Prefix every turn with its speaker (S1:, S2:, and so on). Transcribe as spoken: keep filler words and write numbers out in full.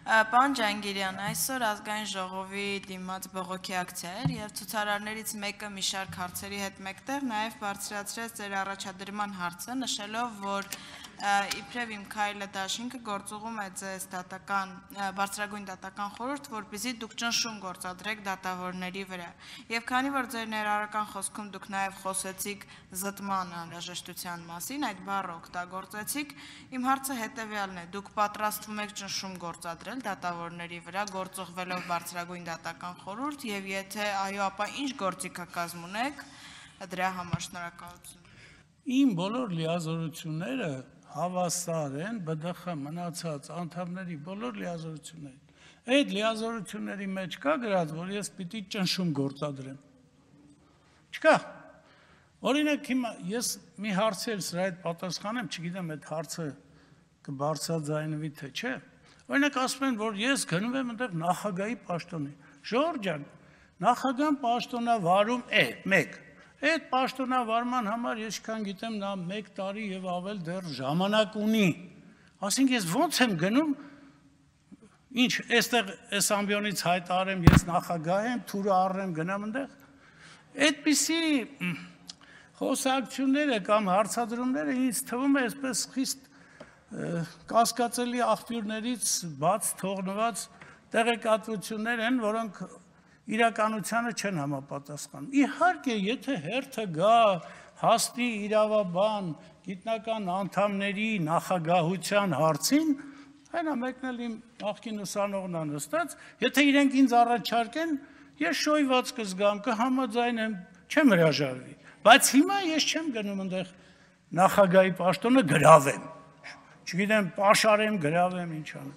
S1: Պարոն Ջանգիրյան, այսօր ազգային ժողովի դիմաց բողոքի ակցիա էր եւ ցուցարարներից մեկը մի շարք հարցերի հետ մեկտեղ նաեւ բարձրացրեց ձեր առաջադրման հարցը, նշելով, որ իբրև իմ քայլը դաշինքը գործուղում է ձեզ դատական բարձրագույն դատական խորհուրդ, որպեսզի դուք ճնշում գործադրեք դատավորների վրա։ Եվ քանի որ ձեր ներառական խոսքում դուք նաեւ խոսեցիք զտման անհրաժեշտության մասին, այդ բառը օգտագործեցիք, իմ հարցը հետեւյալն է. դուք պատրաստվում եք ճնշում գործադրել դատավորների վրա գործողվելով բարձրագույն դատական խորհուրդ եւ եթե այո, ապա ինչ գործիքակազմ ունեք դրա համար? Շնորհակալություն։
S2: Իմ բոլոր լիազորությունները հավասար են B D X մնացած անդամների բոլոր լիազորություններին։ Այդ լիազորությունների մեջ կա գրած, որ ես պիտի ճնշում գործադրեմ։ Չկա։ Օրինակ հիմա ես մի հարցեր սրա հետ պատասխանեմ, չգիտեմ այդ հարցը կբարձրաձայնվի թե չէ։ Օրինակ ասում են, որ ես գնում եմ այնտեղ նախագահի պաշտոնի։ Ժողովուրդ ջան, նախագահան պաշտոնավարում է, մեկ։ Այդ պաշտոնավարման համար ես քան գիտեմ նա մեկ տարի եւ ավել դեռ ժամանակ ունի։ Ասենք ես ո՞նց եմ գնում, ինչ, այստեղ այս ամբիոնից հայտարարեմ, ես նախագահ եմ, թուրը առնեմ, գնամ այնտեղ։ Այդպիսի խոսակցությունները կամ հարցադրումները ինձ թվում է այսպես խիստ կասկածելի աղբյուրներից բաց թողնված տեղեկատվություններ են, որոնք իրականությանը չեն համապատասխանում։ Իհարկե, եթե հերթը գա հասնի իրավաբան գիտնական անդամների նախագահության հարցին, այն մեկն էլ իմ նախկին ուսանողն է նստած, եթե իրենք ինձ առաջարկեն, ես շոյված կզգամ, կհամաձայնեմ, չեմ հրաժարվի, բայց հիմա ես չեմ գնում այնտեղ նախագահի պաշտոնը գրավեմ, չգիտեմ, պաշարեմ, գրավեմ, ինչ անեմ։